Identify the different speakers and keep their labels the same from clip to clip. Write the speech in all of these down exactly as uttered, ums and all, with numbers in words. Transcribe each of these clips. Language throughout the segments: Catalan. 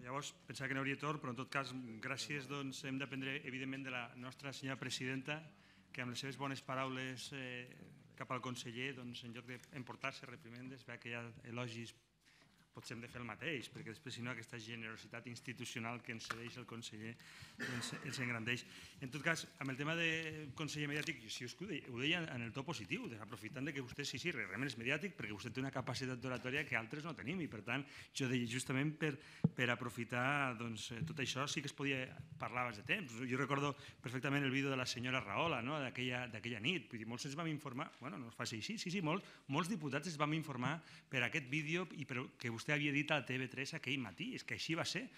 Speaker 1: Llavors, pensava que no hauria torn, però en tot cas, gràcies, doncs, hem d'aprendre, evidentment, de la nostra senyora presidenta, que amb les seves bones paraules cap al conseller, doncs, en lloc d'emportar-se reprimendes, veig que hi ha elogis, potser hem de fer el mateix, perquè després, si no, aquesta generositat institucional que ens cedeix el conseller ens engrandeix. En tot cas, amb el tema del conseller mediàtic, si ho deia en el to positiu, aprofitant que vostè sí, sí, realment és mediàtic, perquè vostè té una capacitat d'oratòria que altres no tenim, i per tant, jo deia, justament per aprofitar tot això, sí que es podia parlar abans de temps. Jo recordo perfectament el vídeo de la senyora Rahola, d'aquella nit, vull dir, molts ens vam informar, bueno, no es faci així, sí, sí, molts diputats ens vam informar per aquest vídeo i que vostè vostè havia dit a la T V tres aquell matí, és que així va ser,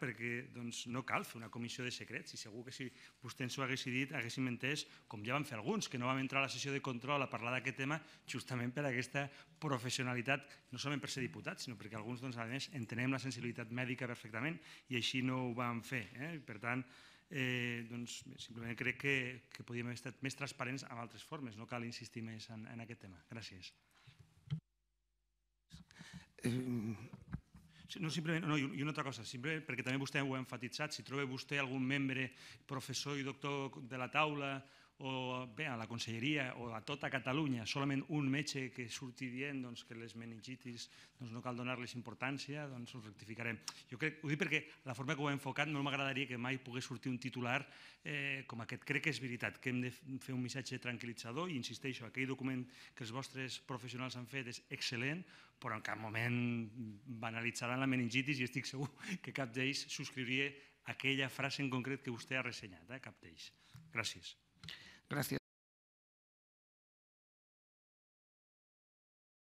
Speaker 1: perquè no cal fer una comissió de secrets, i segur que si vostè ens ho hagués dit haguéssim entès, com ja van fer alguns, que no vam entrar a la sessió de control a parlar d'aquest tema justament per aquesta professionalitat, no solament per ser diputats, sinó perquè alguns, a més, entenem la sensibilitat mèdica perfectament i així no ho vam fer. Per tant, simplement crec que podríem haver estat més transparents amb altres formes, no cal insistir més en aquest tema. Gràcies. No, simplement, i una altra cosa, perquè també vostè ho ha enfatitzat, si troba vostè algun membre, professor i doctor de la taula, o bé, a la conselleria, o a tota Catalunya, solament un metge que surti dient que les meningitis no cal donar-les importància, doncs ho rectificarem. Jo crec, ho dic perquè la forma que ho he enfocat no m'agradaria que mai pogués sortir un titular com aquest. Crec que és veritat que hem de fer un missatge tranquil·litzador i insisteixo, aquell document que els vostres professionals han fet és excel·lent, però en cap moment banalitzaran la meningitis i estic segur que cap d'ells subscriuria aquella frase en concret que vostè ha ressenyat, cap d'ells. Gràcies.
Speaker 2: Gràcies.